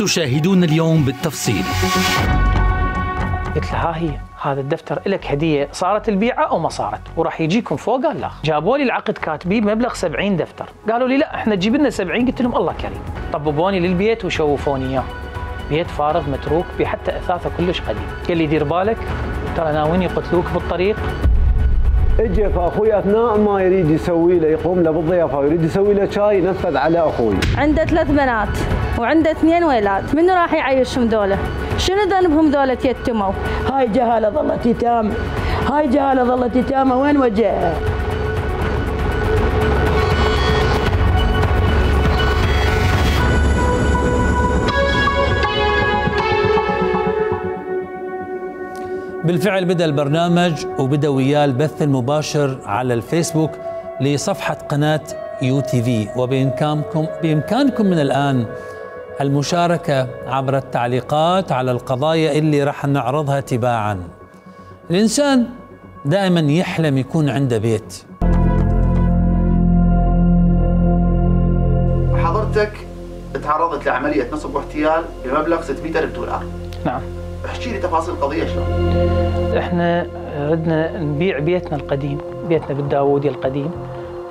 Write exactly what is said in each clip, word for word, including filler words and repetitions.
ستشاهدون اليوم بالتفصيل. قلت له ها هي هذا الدفتر لك هديه، صارت البيعه او ما صارت وراح يجيكم فوق؟ قال لا. جابوا لي العقد كاتبين بمبلغ سبعين دفتر، قالوا لي لا احنا تجيب لنا سبعين، قلت لهم الله كريم. طببوني للبيت وشوفوني اياه، بيت فارغ متروك بحتى اثاثه كلش قديم. قال لي دير بالك ترى ناويين يقتلوك بالطريق. اجى فاخوي اثناء ما يريد يسوي له يقوم له بالضيافه ويريد يسوي له شاي نفذ على اخوي. عنده ثلاث بنات وعنده اثنين ولاد، منو راح يعيشهم دولة؟ شنو ذنبهم دولة يتموا؟ هاي جهالة ظلت يتامى، هاي جهالة ظلت يتامى، وين وجهها؟ بالفعل بدأ البرنامج وبدأ وياه البث المباشر على الفيسبوك لصفحة قناة يو تي في، وبإمكانكم بإمكانكم من الآن المشاركة عبر التعليقات على القضايا اللي راح نعرضها تباعا. الإنسان دائما يحلم يكون عنده بيت. حضرتك تعرضت لعملية نصب واحتيال بمبلغ ستمئة ألف دولار. نعم. احكي لي تفاصيل القضية شلون؟ احنا ردنا نبيع بيتنا القديم، بيتنا بالداوودي القديم،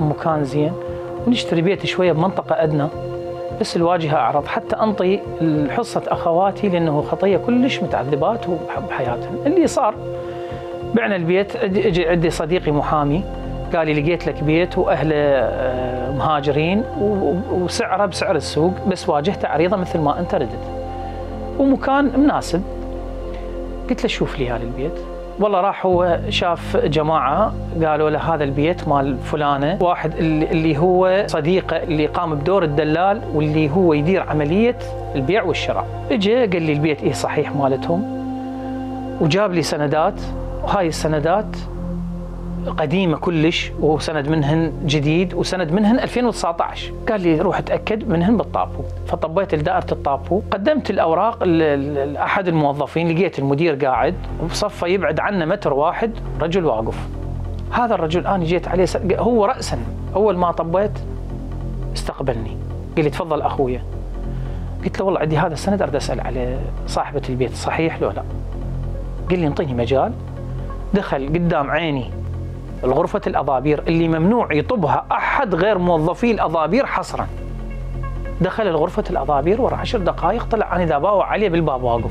مكان زين، ونشتري بيت شوية بمنطقة أدنى، بس الواجهة أعرض حتى أنطي حصة أخواتي لأنه خطية كلش متعذبات بحياتهم. اللي صار بعنا البيت. اجى عندي صديقي محامي قال لي لقيت لك بيت وأهله مهاجرين وسعره بسعر السوق، بس واجهته عريضة مثل ما أنت ردت ومكان مناسب. قلت له شوف لي هذا البيت. والله راح هو شاف جماعة قالوا له هذا البيت مال فلانة، واحد اللي هو صديقه اللي قام بدور الدلال واللي هو يدير عملية البيع والشراء. اجى قال لي البيت ايه صحيح مالتهم، وجاب لي سندات، وهاي السندات قديمة كلش، وسند منهن جديد وسند منهن ألفين وتسعة عشر. قال لي روح اتأكد منهن بالطابو. فطبيت لدائرة الطابو، قدمت الأوراق لأحد الموظفين، لقيت المدير قاعد وبصفه يبعد عنه متر واحد رجل واقف. هذا الرجل أنا جيت عليه هو رأسا، أول ما طبيت استقبلني قال لي تفضل أخويا. قلت له والله عندي هذا السند أريد أسأل على صاحبة البيت صحيح لو لا. قال لي انطيني مجال. دخل قدام عيني الغرفة الأضابير اللي ممنوع يطبها أحد غير موظفي الأضابير حصرا. دخل الغرفة الأضابير ورا عشر دقائق طلع أنا إذا باوع عليه بالباب واقف.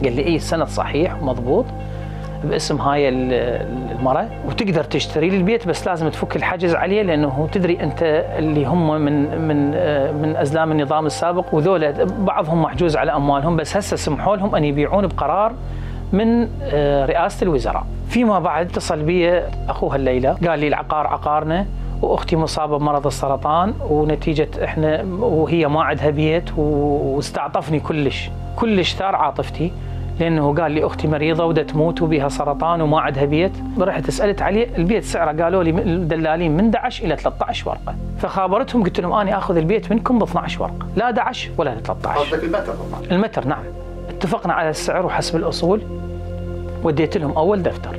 قال لي إيه السند صحيح ومضبوط باسم هاي المرة وتقدر تشتري لي البيت، بس لازم تفك الحجز عليه لأنه تدري أنت اللي هم من من من أزلام النظام السابق، وذولا بعضهم محجوز على أموالهم، بس هسه سمحوا لهم أن يبيعون بقرار من رئاسة الوزراء. فيما بعد اتصل بي أخوها الليلة قال لي العقار عقارنا وأختي مصابة بمرض السرطان، ونتيجة إحنا وهي ما عندها بيت، واستعطفني كلش كلش ثار عاطفتي، لأنه قال لي أختي مريضة ودا تموت وبها سرطان وما عندها بيت. رحت سألت عليه البيت سعره قالوا لي الدلالين من أحد عشر إلى ثلاثة عشر ورقة، فخابرتهم قلت لهم أنا آخذ البيت منكم ب اثني عشر ورقة، لا أحد عشر ولا ثلاثة عشر. قصدك المتر؟ المتر نعم. اتفقنا على السعر وحسب الأصول. وديت لهم أول دفتر،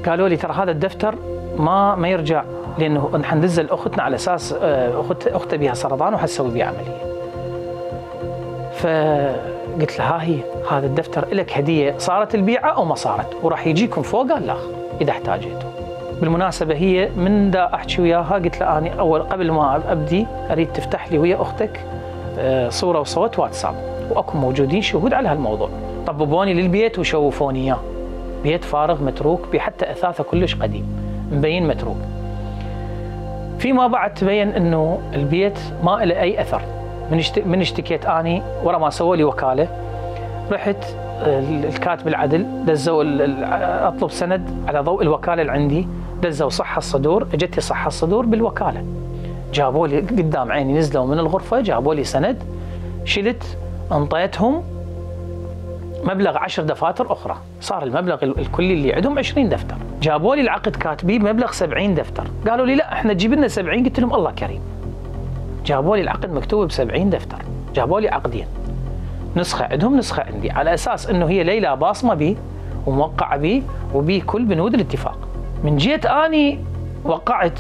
قالوا لي ترى هذا الدفتر ما ما يرجع، لأنه حندز لأختنا على أساس أخت أختها بها سرطان وحتسوي بها عملية. فقلت له ها هي هذا الدفتر لك هدية، صارت البيعة أو ما صارت وراح يجيكم فوق؟ قال لا إذا احتاجته. بالمناسبة هي من دا أحكي وياها قلت له أنا أول قبل ما أبدي أريد تفتح لي ويا أختك صورة وصوت واتساب وأكون موجودين شهود على هالموضوع. طببوني للبيت وشوفوني إياه، بيت فارغ متروك بحتى أثاثه كلش قديم مبين متروك. فيما بعد تبين إنه البيت ما له أي أثر. من اشت... من اشتكيت أني ورا ما سووا لي وكالة، رحت الكاتب العدل دزوا أطلب سند على ضوء الوكالة اللي عندي، دزوا صحة الصدور، اجتني صحة الصدور بالوكالة، جابوا لي قدام عيني، نزلوا من الغرفة جابوا لي سند، شلت انطيتهم مبلغ عشر دفاتر أخرى، صار المبلغ الكلي اللي عندهم عشرين دفتر. جابوا لي العقد كاتبيه بمبلغ سبعين دفتر، قالوا لي لا احنا تجيب لنا سبعين، قلت لهم الله كريم. جابوا لي العقد مكتوب بسبعين دفتر، جابوا لي عقدين، نسخة عندهم نسخة عندي، على أساس إنه هي ليلى باصمة بي وموقعة بي وبي كل بنود الاتفاق. من جيت أني وقعت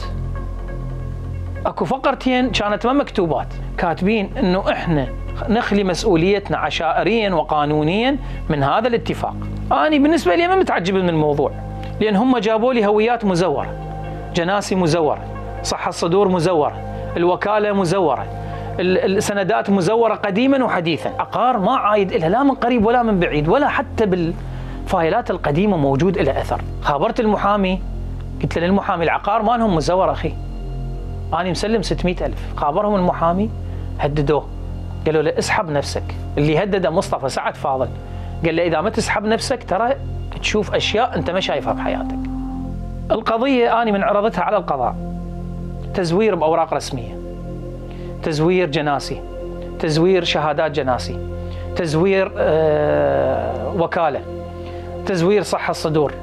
اكو فقرتين كانت ما مكتوبات، كاتبين إنه إحنا نخلي مسؤوليتنا عشائريا وقانونيا من هذا الاتفاق. أنا بالنسبة لي ما متعجب من الموضوع، لأن هم جابوا لي هويات مزورة، جناسي مزورة، صحة الصدور مزورة، الوكالة مزورة، السندات مزورة قديما وحديثا، عقار ما عايد لها لا من قريب ولا من بعيد، ولا حتى بالفايلات القديمة موجود لها أثر. خابرت المحامي، قلت له للمحامي العقار مالهم مزور أخي، أنا مسلم ستمئة ألف. خابرهم المحامي هددوه، قالوا له اسحب نفسك. اللي هدده مصطفى سعد فاضل، قال له إذا ما تسحب نفسك ترى تشوف أشياء أنت ما شايفها بحياتك. القضية أنا من عرضتها على القضاء، تزوير بأوراق رسمية، تزوير جناسي، تزوير شهادات جناسي، تزوير آه وكالة، تزوير صحة الصدور،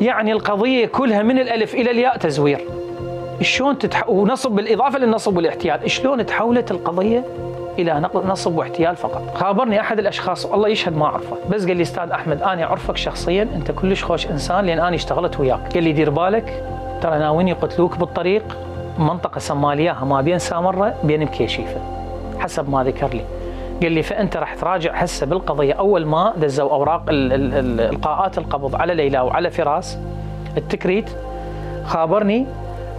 يعني القضية كلها من الألف إلى الياء تزوير. شلون تتح... ونصب بالإضافة للنصب والاحتيال، شلون تحولت القضية إلى نصب واحتيال فقط؟ خابرني أحد الأشخاص والله يشهد ما أعرفه، بس قال لي أستاذ أحمد أنا أعرفك شخصيا، أنت كلش خوش إنسان لأن أنا اشتغلت وياك. قال لي دير بالك ترى ناويين يقتلوك بالطريق، منطقة سمالياها ما بين سامرة بين مكيشيفة حسب ما ذكر لي. قال لي فأنت راح تراجع هسه بالقضية. أول ما دزوا أوراق القاءات القبض على ليلى وعلى فراس التكريت، خابرني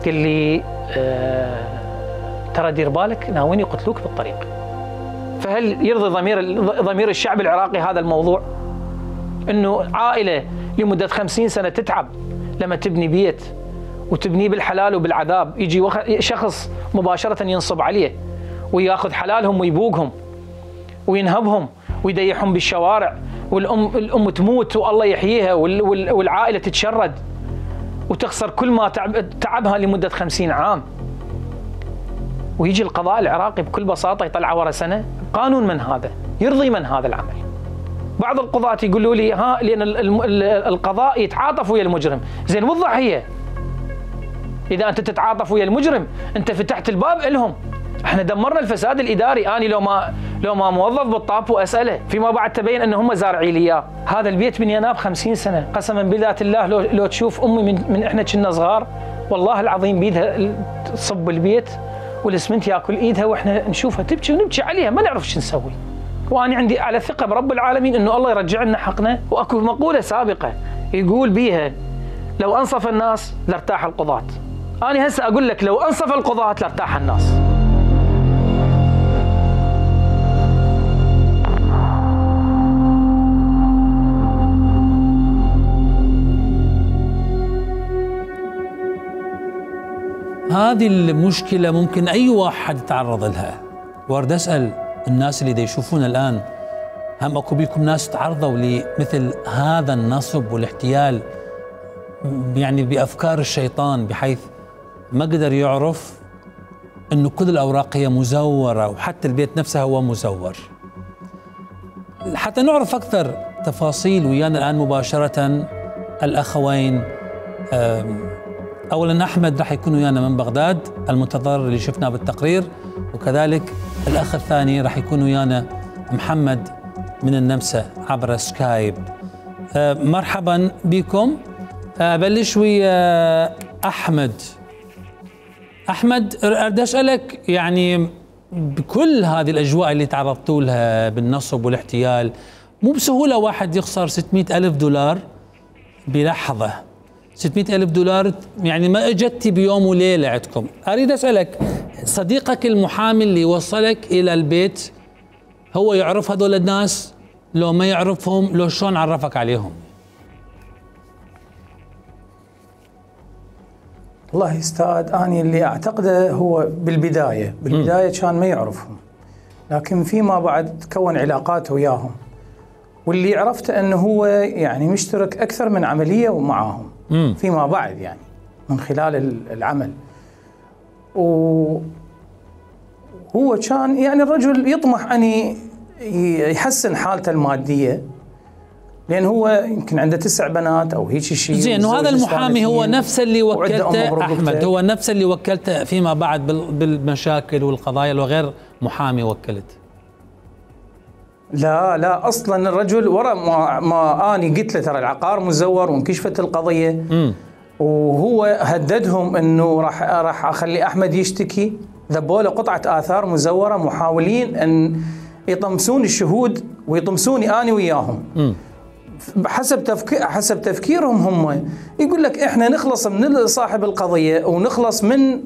قال لي آه ترى دير بالك ناويين يقتلوك بالطريق. فهل يرضي ضمير ضمير الشعب العراقي هذا الموضوع؟ انه عائله لمده خمسين سنه تتعب لما تبني بيت وتبنيه بالحلال وبالعذاب، يجي شخص مباشره ينصب عليه وياخذ حلالهم ويبوقهم وينهبهم ويديحهم بالشوارع، والام الام تموت والله يحييها، والعائله تتشرد وتخسر كل ما تعب تعبها لمده خمسين عام. ويجي القضاء العراقي بكل بساطه يطلع ورا سنه. قانون من هذا؟ يرضي من هذا العمل؟ بعض القضاة يقولوا لي ها لان القضاء يتعاطف ويا المجرم. زين والضحيه؟ اذا انت تتعاطف ويا المجرم انت فتحت الباب لهم. احنا دمرنا الفساد الاداري. اني لو ما لو ما موظف بالطاب واساله فيما بعد تبين ان هم زارعين لي اياه. هذا البيت بنيناه بخمسين سنه، قسما بذات الله لو لو تشوف امي من, من احنا كنا صغار والله العظيم بيدها تصب البيت والاسمنت ياكل ايدها واحنا نشوفها تبكي ونبكي عليها ما نعرف شو نسوي. وانا عندي على ثقه برب العالمين انه الله يرجع لنا حقنا. واكو مقوله سابقه يقول بيها لو انصف الناس لارتاح القضاة. انا هسه اقول لك لو انصف القضاة لارتاح الناس. هذه المشكلة ممكن أي واحد يتعرض لها. وارد أسأل الناس اللي دا يشوفون الآن، هم أكو بيكم ناس تعرضوا لمثل هذا النصب والاحتيال يعني بأفكار الشيطان، بحيث ما قدر يعرف أنه كل الأوراق هي مزورة وحتى البيت نفسه هو مزور. حتى نعرف أكثر تفاصيل ويانا الآن مباشرة الأخوين. أولا أحمد راح يكون ويانا من بغداد المتضرر اللي شفناه بالتقرير، وكذلك الأخ الثاني راح يكون ويانا محمد من النمسا عبر سكايب. أه مرحبا بكم. أبلش ويا أحمد. أحمد أريد أسألك يعني بكل هذه الأجواء اللي تعرضتوا لها بالنصب والاحتيال، مو بسهولة واحد يخسر ستمئة ألف دولار بلحظة. ستمئة ألف دولار يعني ما اجتي بيوم وليلة عندكم. أريد أسألك صديقك المحامي اللي وصلك إلى البيت هو يعرف هذول الناس؟ لو ما يعرفهم لو شلون عرفك عليهم؟ والله استاذ أنا اللي أعتقده هو بالبداية بالبداية م. كان ما يعرفهم، لكن فيما بعد تكون علاقات وياهم، واللي عرفته أنه هو يعني مشترك أكثر من عملية ومعاهم م. فيما بعد يعني من خلال العمل. وهو كان يعني الرجل يطمح أن يحسن حالته المادية، لأن هو يمكن عنده تسع بنات أو هيك شيء. زين، وهذا المحامي هو نفس اللي وكلته أحمد، هو نفس اللي وكلته فيما بعد بالمشاكل والقضايا وغير محامي وكلت؟ لا لا اصلا الرجل ورا ما, ما اني قلت له ترى العقار مزور وانكشفت القضيه م. وهو هددهم انه راح راح اخلي احمد يشتكي ذبوا له قطعه اثار مزوره محاولين ان يطمسون الشهود ويطمسوني اني وياهم. م. حسب تفكير حسب تفكيرهم هم يقول لك احنا نخلص من صاحب القضيه ونخلص من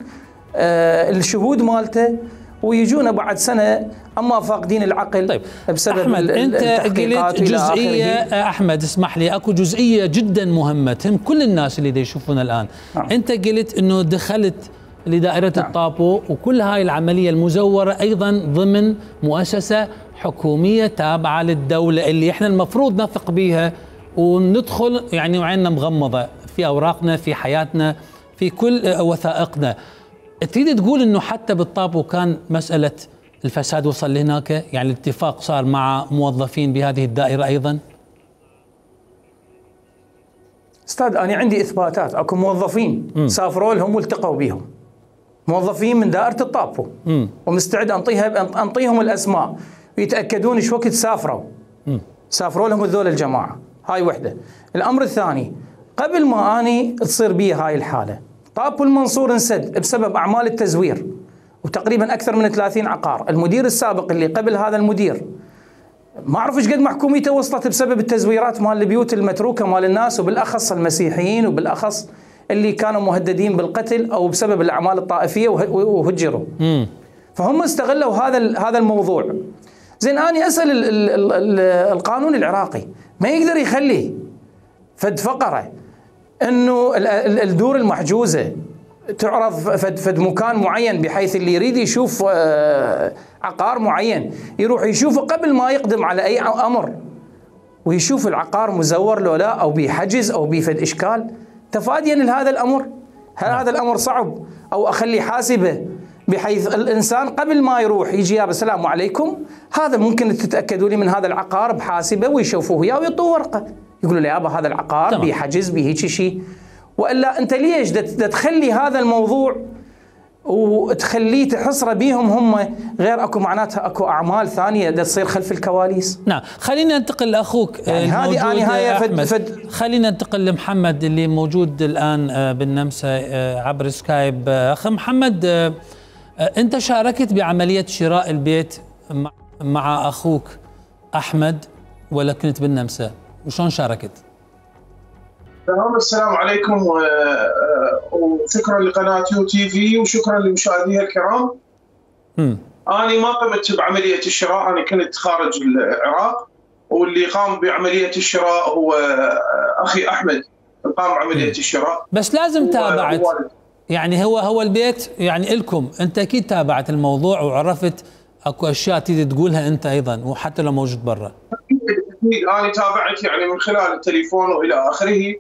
آه الشهود مالته ويجونا بعد سنه اما فاقدين العقل. طيب بسبب احمد انت قلت جزئيه، احمد اسمح لي، اكو جزئيه جدا مهمه تهم كل الناس اللي دا يشوفونا الان. نعم. انت قلت انه دخلت لدائره نعم. الطابو وكل هاي العمليه المزوره ايضا ضمن مؤسسه حكوميه تابعه للدوله اللي احنا المفروض نثق بيها وندخل يعني وعيننا مغمضه في اوراقنا في حياتنا في كل وثائقنا. تريد تقول انه حتى بالطابو كان مساله الفساد وصل لهناك، يعني الاتفاق صار مع موظفين بهذه الدائره ايضا؟ استاذ انا عندي اثباتات، اكو موظفين م. سافروا لهم والتقوا بهم، موظفين من دائره الطابو، م. ومستعد انطيها انطيهم الاسماء ويتاكدون ايش وقت سافروا. م. سافروا لهم هذول الجماعه، هاي وحده. الامر الثاني، قبل ما اني تصير بي هاي الحاله، طابو المنصور انسد بسبب اعمال التزوير وتقريبا اكثر من ثلاثين عقار. المدير السابق اللي قبل هذا المدير ما اعرف ايش قد محكوميته وصلت بسبب التزويرات مال البيوت المتروكه مال الناس، وبالاخص المسيحيين، وبالاخص اللي كانوا مهددين بالقتل او بسبب الاعمال الطائفيه وهجروا. م. فهم استغلوا هذا هذا الموضوع. زين اني اسال ال ال ال ال القانون العراقي ما يقدر يخلي فد فقره انه الدور المحجوزه تعرض فد فد مكان معين بحيث اللي يريد يشوف عقار معين يروح يشوفه قبل ما يقدم على اي امر، ويشوف العقار مزور لو لا او بحجز او بفد اشكال تفاديا لهذا الامر. هل هذا الامر صعب؟ او اخلي حاسبه بحيث الانسان قبل ما يروح يجي يا السلام عليكم، هذا ممكن تتاكدوا لي من هذا العقار بحاسبه ويشوفوه وياه ويعطوه ورقه يقولوا له يابا هذا العقار بحجز بهيك شيء. والا انت ليش دا تخلي هذا الموضوع وتخليه تحصره بيهم هم، غير اكو معناتها اكو اعمال ثانيه دا تصير خلف الكواليس. نعم خلينا ننتقل لاخوك يعني هذه نهايه فد فد خلينا ننتقل لمحمد اللي موجود الان بالنمسا عبر سكايب. اخ محمد، انت شاركت بعمليه شراء البيت مع اخوك احمد ولا كنت بالنمسا؟ وشلون شاركت؟ تمام. السلام عليكم وشكرا لقناة يو تي في وشكرا لمشاهديها الكرام. م. أنا ما قمت بعملية الشراء، أنا كنت خارج العراق، واللي قام بعملية الشراء هو أخي أحمد قام بعملية الشراء. بس لازم تابعت يعني هو هو البيت يعني إلكم، أنت أكيد تابعت الموضوع وعرفت أكو أشياء تريد تقولها أنت أيضا وحتى لو موجود برا. أكيد أنا تابعت يعني من خلال التليفون وإلى آخره.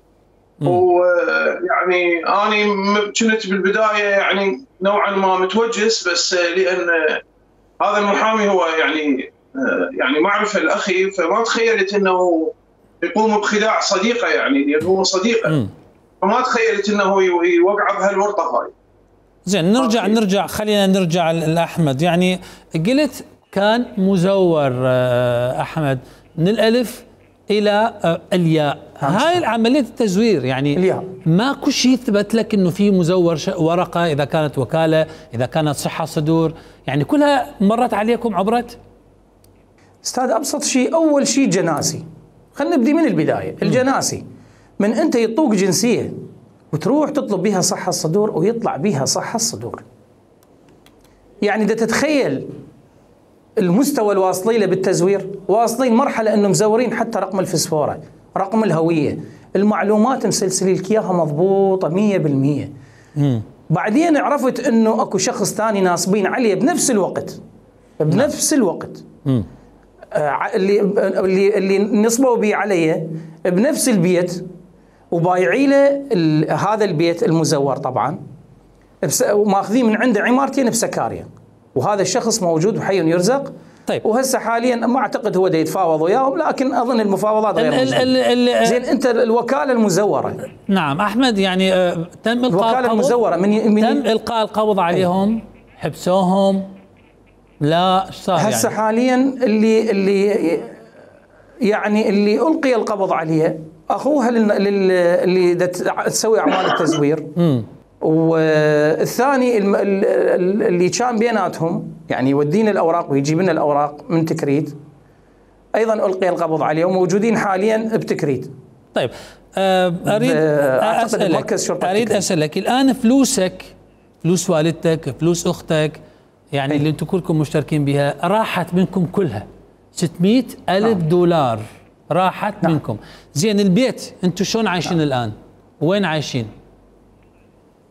ويعني أنا كنت بالبداية يعني نوعا ما متوجس، بس لأن هذا المحامي هو يعني يعني معرفة الأخي، فما تخيلت أنه يقوم بخداع صديقه، يعني لأنه هو صديقه، فما تخيلت أنه يوقع بهالورطة هاي. زين نرجع نرجع خلينا نرجع لأحمد. يعني قلت كان مزور أحمد من الألف إلى الياء، هاي عملية التزوير يعني الياء. ماكو شيء يثبت لك انه في مزور ورقة، اذا كانت وكالة، اذا كانت صحة صدور، يعني كلها مرت عليكم عبرت؟ استاذ ابسط شيء، اول شيء جناسي، خلينا نبدي من البداية. الجناسي من انت يطوق جنسية وتروح تطلب بها صحة الصدور ويطلع بها صحة الصدور، يعني دا تتخيل المستوى الواصلين له بالتزوير، واصلين مرحله انه مزورين حتى رقم الفسفوره، رقم الهويه، المعلومات مسلسلين لك اياها مضبوطه مية بالمية. امم بعدين عرفت انه اكو شخص ثاني ناصبين عليه بنفس الوقت بنفس الوقت امم آه اللي اللي اللي نصبوا بيه عليه بنفس البيت وبايعي له هذا البيت المزور طبعا، وماخذين من عنده عمارتين بسكاريا، وهذا الشخص موجود وحي يرزق. طيب وهسه حاليا ما اعتقد هو دا يتفاوض وياهم، لكن اظن المفاوضات غير ال ال ال زين انت الوكاله المزوره. نعم احمد، يعني آه تم القاء الوكاله المزوره من, من تم القاء القبض عليهم؟ حبسوهم؟ لا ايش صار؟ هسه يعني حاليا اللي اللي يعني اللي القي القبض عليه اخوها اللي دا تسوي اعمال التزوير والثاني اللي كان بيناتهم يعني يودينا الاوراق ويجيب لنا الاوراق من تكريت، ايضا القي القبض عليه وموجودين حاليا بتكريت. طيب اريد اسالك اريد اسالك الان فلوسك، فلوس والدتك، فلوس اختك، يعني أي. اللي انتم كلكم مشتركين بها راحت منكم كلها ستمئة ألف نعم. دولار راحت نعم. منكم. زين البيت انتم شلون عايشين نعم. الان؟ وين عايشين؟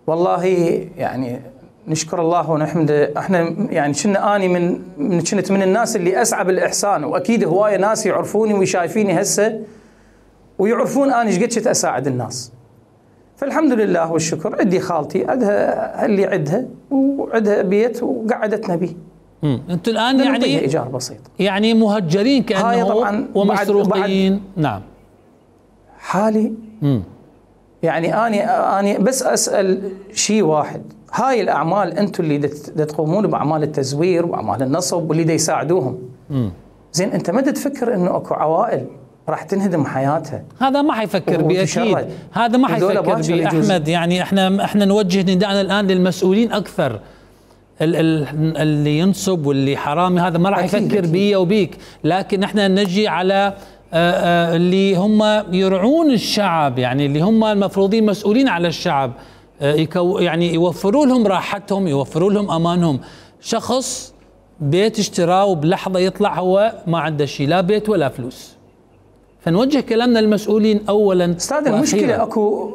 والله يعني نشكر الله ونحمده. احنا يعني كنا اني من من كنت من الناس اللي اسعى بالاحسان، واكيد هوايه ناس يعرفوني ويشايفيني هسه ويعرفون اني ايش قد كنت اساعد الناس. فالحمد لله والشكر. عندي خالتي عندها اللي عندها وعندها بيت وقعدتنا به. امم انتم الان يعني ايجار بسيط، يعني مهجرين كانه طبعا ومسروقين. نعم حالي. امم يعني اني اني بس اسال شيء واحد، هاي الاعمال انتم اللي تقومون باعمال التزوير واعمال النصب واللي دا يساعدوهم. امم زين انت ما تفكر انه اكو عوائل راح تنهدم حياتها؟ هذا ما حيفكر بيه اكيد، هذا ما حيفكر بيه احمد. يعني احنا احنا نوجه نداءنا الان للمسؤولين اكثر، اللي ينصب واللي حرامي هذا ما راح يفكر بيه وبيك، لكن احنا نجي على اللي هم يرعون الشعب، يعني اللي هم المفروضين مسؤولين على الشعب، يعني يوفروا لهم راحتهم، يوفروا لهم امانهم. شخص بيت اشتراه وبلحظه يطلع هو ما عنده شيء، لا بيت ولا فلوس. فنوجه كلامنا للمسؤولين اولا. استاذ المشكله اكو،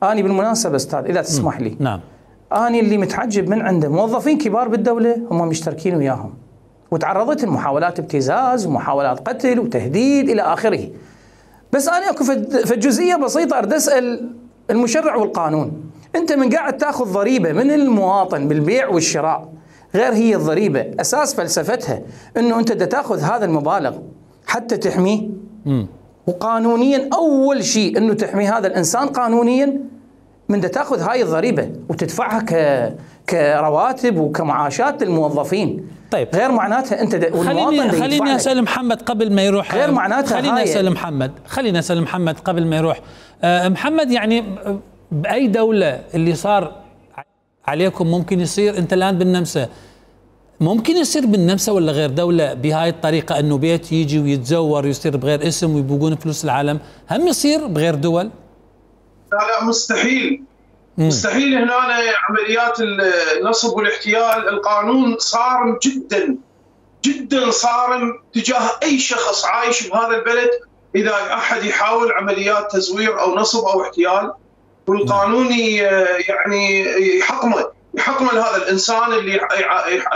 اني بالمناسبه استاذ اذا تسمح لي، نعم، اني اللي متعجب من عنده موظفين كبار بالدوله هم مشتركين وياهم، وتعرضت لمحاولات ابتزاز ومحاولات قتل وتهديد الى اخره. بس انا اكو في جزئيه بسيطه اريد اسال المشرع والقانون، انت من قاعد تاخذ ضريبه من المواطن بالبيع والشراء، غير هي الضريبه اساس فلسفتها انه انت بدك تاخذ هذا المبالغ حتى تحميه. امم وقانونيا اول شيء انه تحمي هذا الانسان قانونيا، من بدك تاخذ هاي الضريبه وتدفعها ك كرواتب وكمعاشات للموظفين. طيب غير معناتها انت خليني خليني اسال محمد قبل ما يروح. غير معناتها خليني اسال محمد خليني اسال محمد قبل ما يروح. أه محمد، يعني باي دوله اللي صار عليكم ممكن يصير؟ انت الان بالنمسا، ممكن يصير بالنمسا ولا غير دوله بهاي الطريقه، انه بيت يجي ويتزور ويصير بغير اسم ويبوقون فلوس العالم؟ هم يصير بغير دول؟ لا لا مستحيل. مم. مستحيل. هنا عمليات النصب والاحتيال القانون صارم جدا جدا، صارم تجاه اي شخص عايش بهذا البلد اذا احد يحاول عمليات تزوير او نصب او احتيال، والقانون يعني يحكمه يحكمه لهذا الانسان اللي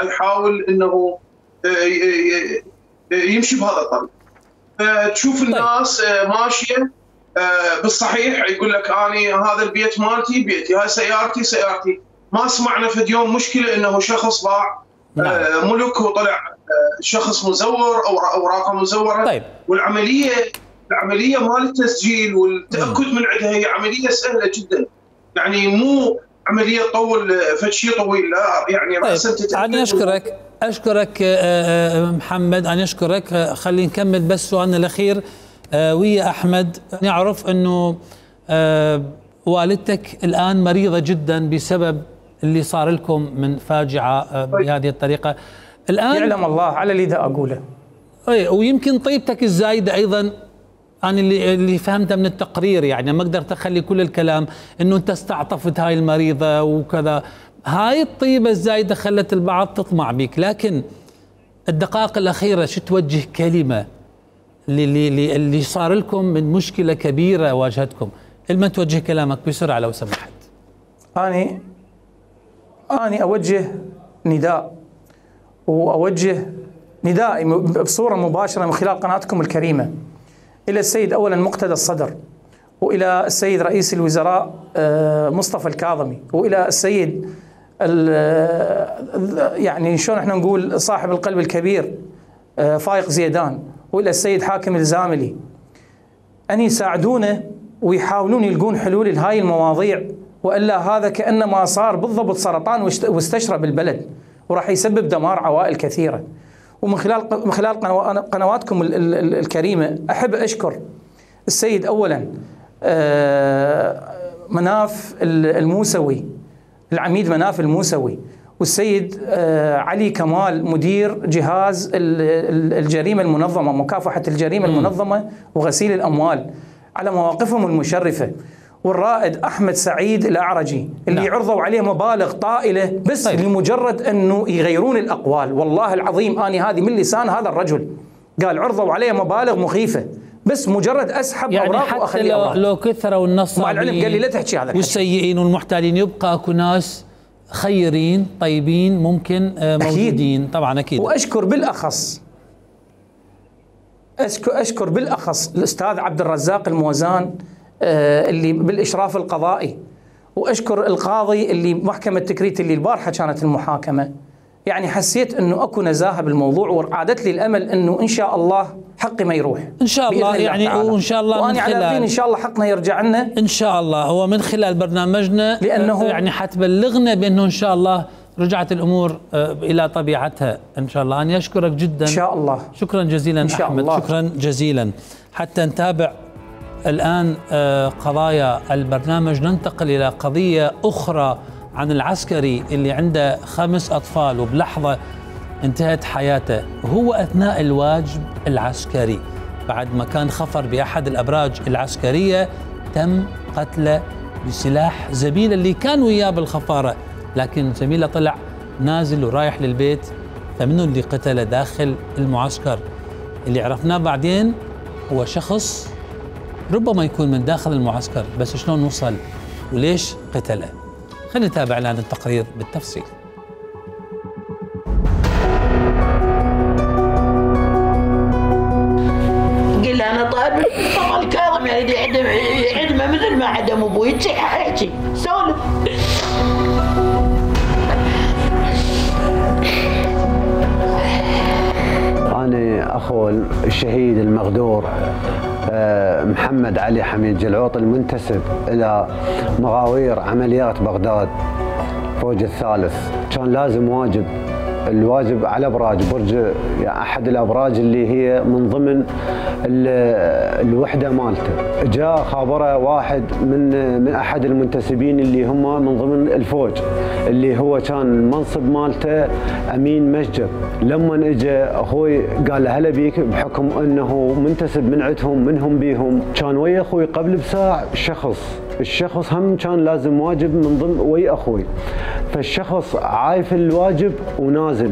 يحاول انه يمشي بهذا الطريق. تشوف الناس ماشيه بالصحيح، يقول لك اني هذا البيت مالتي بيتي، هاي سيارتي سيارتي. ما سمعنا في يوم مشكله انه شخص باع ملك وطلع شخص مزور او اوراقه مزوره. طيب. والعمليه العمليه مال التسجيل والتاكد من عندها هي عمليه سهله جدا، يعني مو عمليه تطول فد شيء طويل، لا يعني راسا تتاكد. انا اشكرك اشكرك محمد، انا اشكرك. خلينا نكمل بس سؤالنا الاخير ويا احمد. نعرف انه والدتك الان مريضه جدا بسبب اللي صار لكم من فاجعه بهذه الطريقه. الان يعلم الله على اللي دا اقوله. اي، ويمكن طيبتك الزايده ايضا، انا اللي اللي فهمته من التقرير، يعني ما قدرت اخلي كل الكلام، انه انت استعطفت هاي المريضه وكذا. هاي الطيبه الزايده خلت البعض تطمع بك، لكن الدقائق الاخيره شو توجه كلمه اللي اللي صار لكم من مشكله كبيره واجهتكم؟ لمن توجه كلامك بسرعه لو سمحت؟ اني اني اوجه نداء، واوجه ندائي بصوره مباشره من خلال قناتكم الكريمه الى السيد اولا مقتدى الصدر، والى السيد رئيس الوزراء مصطفى الكاظمي، والى السيد يعني شلون احنا نقول صاحب القلب الكبير فايق زيدان، والى السيد حاكم الزاملي، ان يساعدونا ويحاولون يلقون حلول لهاي المواضيع، والا هذا كانما صار بالضبط سرطان واستشرب البلد، وراح يسبب دمار عوائل كثيره. ومن خلال من خلال قنواتكم الكريمه احب اشكر السيد اولا مناف الموسوي، العميد مناف الموسوي، والسيد علي كمال مدير جهاز الجريمة المنظمة، مكافحة الجريمة المنظمة وغسيل الأموال، على مواقفهم المشرفة، والرائد أحمد سعيد الأعرجي اللي نعم. عرضوا عليه مبالغ طائلة بس طيب. لمجرد أنه يغيرون الأقوال. والله العظيم أنا هذه من لسان هذا الرجل، قال عرضوا عليه مبالغ مخيفة بس مجرد أسحب يعني أوراق وأخلي أوراق. لو كثروا النصابين مع العلم قال لي لا تحكي هذا والسيئين والمحتالين، يبقى أكو ناس خيرين طيبين ممكن موجودين. أكيد. طبعا أكيد. وأشكر بالأخص أشكر, أشكر بالأخص الأستاذ عبد الرزاق الموزان اللي بالإشراف القضائي، وأشكر القاضي اللي محكمة تكريت اللي البارحة كانت المحاكمة. يعني حسيت أنه أكو نزاهة بالموضوع، وعادت لي الأمل أنه إن شاء الله حقي ما يروح إن شاء الله. يعني وإن شاء الله وأنا على يقين إن شاء الله حقنا يرجع لنا إن شاء الله. هو من خلال برنامجنا لأنه يعني حتبلغنا بأنه إن شاء الله رجعت الأمور إلى طبيعتها إن شاء الله. أنا أشكرك جدا إن شاء الله. شكرا جزيلا إن شاء أحمد الله. شكرا جزيلا. حتى نتابع الآن قضايا البرنامج، ننتقل إلى قضية أخرى عن العسكري اللي عنده خمس أطفال وبلحظة انتهت حياته، وهو أثناء الواجب العسكري بعد ما كان خفر بأحد الأبراج العسكرية تم قتله بسلاح زميله اللي كان وياه بالخفارة، لكن زميله طلع نازل ورايح للبيت، فمنه اللي قتله داخل المعسكر. اللي عرفناه بعدين هو شخص ربما يكون من داخل المعسكر، بس شلون وصل وليش قتله؟ خلينا نتابع الآن التقرير بالتفصيل. قل أنا طالب طبعا الكاظم يعني عدم عدمه مثل ما عدم أبوي، تصيح أحكي سولف. أنا أخو الشهيد المغدور محمد علي حميد جلعوط المنتسب إلى مغاوير عمليات بغداد فوج الثالث. كان لازم واجب، الواجب على ابراج برج يعني احد الابراج اللي هي من ضمن الوحده مالته. جاء خابره واحد من من احد المنتسبين اللي هم من ضمن الفوج اللي هو كان المنصب مالته امين مسجد. لما اجى اخوي قال له هلا بيك، بحكم انه منتسب من عندهم منهم بيهم، كان ويا اخوي قبل بساعه شخص الشخص هم كان لازم واجب من ضمن ويا اخوي، فالشخص عايف الواجب ونازل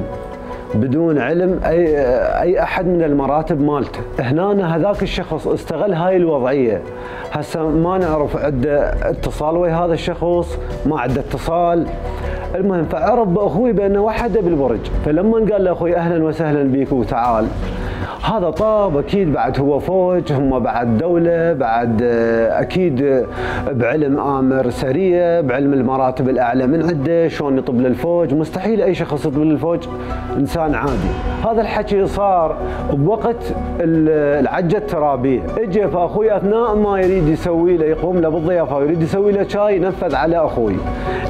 بدون علم اي اي احد من المراتب مالته. هنا هذاك الشخص استغل هاي الوضعيه. هسه ما نعرف عنده اتصال ويا هذا الشخص، ما عنده اتصال. المهم فعرف باخوي بانه وحده بالبرج، فلما قال له اخوي اهلا وسهلا بيك وتعال، هذا طاب اكيد بعد هو فوج، هم بعد دوله، بعد اكيد بعلم امر سريه، بعلم المراتب الاعلى من عنده، شلون يطب للفوج، مستحيل اي شخص يطب للفوج انسان عادي. هذا الحكي صار بوقت العجه الترابيه، اجى فاخوي اثناء ما يريد يسوي له يقوم له بالضيافه ويريد يسوي له شاي، نفذ على اخوي،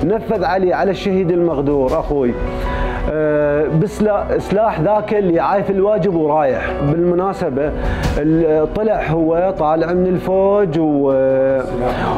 نفذ علي على الشهيد المغدور اخوي أه بسلاح ذاك اللي عايف الواجب ورايح. بالمناسبة طلع هو طالع من الفوج